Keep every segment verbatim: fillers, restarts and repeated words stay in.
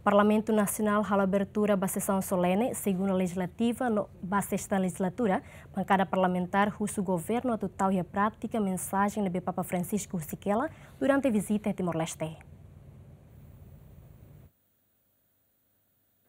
Parlamentu Nasionál halo abertura ba sesaun solene segunda lejizlativa no ba sesta lejizlatura, bankada parlamentár husu governu atu tau iha prátika mensajen ne'ebé Papa Francisco husik hela durante vizita iha Timor-Leste.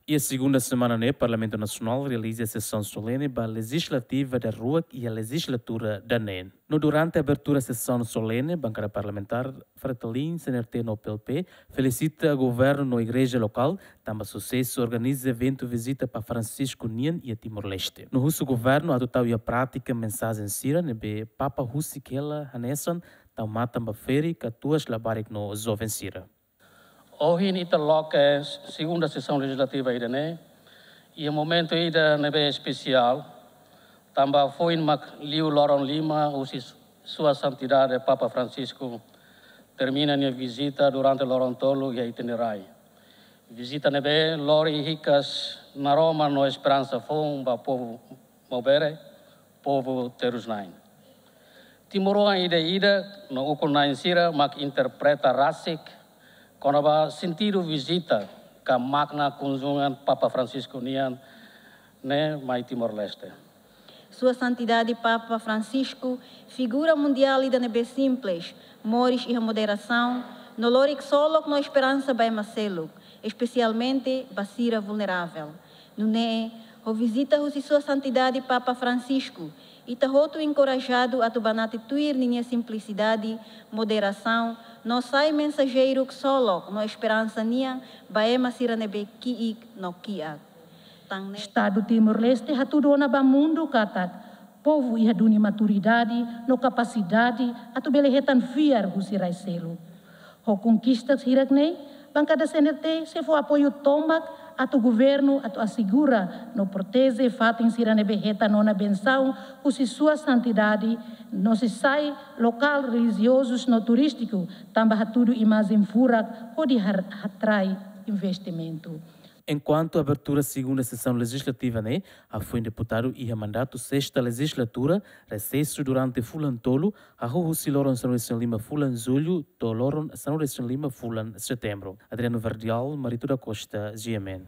Iha segunda semana ne'e, Parlamentu Nasionál realiza sesaun solene ba lejizlativa daruak iha lejizlatura daneen. No durante abertura sesaun solene, bankada parlamentár Fretilin, C N R T no P L P felisita governu no igreja lokál tanba susesu organiza eventu vizita Papa Francisco nian iha Timor-Leste. No husu governu atu tau iha prátika mensajen sira ne'ebé Papa husik hela, hanesan tau matan ba ferik, katuas, labarik no joven sira. Ohin ita loke segunda sesaun lejizlativa ida-ne'e iha momentu ida ne'ebé espesiál, tanba foin mak liu loron lima husi Sua Santidade Papa Francisco termina nia vizita durante loron tolu iha ita-nia rai. Vizita ne'ebé lori hikas naroman no esperansa foun ba povu Maubere, povu terus-na'in. Timoroan ida-ida no ukun-na'in sira mak interpreta rasik kona-ba sentidu vizita ka makna kunjungan Papa Francisco nian ne'e mai Timor-Leste. Sua Santidade Papa Francisco, figura mundiál ida ne'ebé simples, moris iha moderasaun, no lori ksolok no esperansa ba ema seluk, espesialmente ba sira vulneravel. Nune'e, ho vizita husi Sua Santidade Papa Francisco, ita hotu enkorajadu atu banati tuir ninia simplisidade, moderasaun, no sai mensajeiru ksolok no esperansa nian ba ema sira ne'ebé ki'ik no kiak. Tan ne'e, Estadu Timor-Leste hatudu ona ba mundu katak povu iha duni maturidade no kapasidade atu bele hetan fiar husi rai seluk. Ho konkista hirak-ne'e, bankada C N R T sei fó apoiu tomak atu governu atu asegura no proteje fatin sira ne'ebé hetan ona bensaun husi Sua Santidade, no sei sai lokál relijiozus no turístiku, tanba hatudu imajen furak hodi har-, hatrai investimentu. Enkuantu abertura segunda sesaun lejizlativa ne'e, hafoin deputadu iha mandatu sesta lejizlatura, resesu durante fulan tolu, hahú husi loron sanulu-resin-lima fulan Jullu to'o loron sanulu-resin-lima fulan Setembru. Adriano Verdial, Marito da Costa, G M N.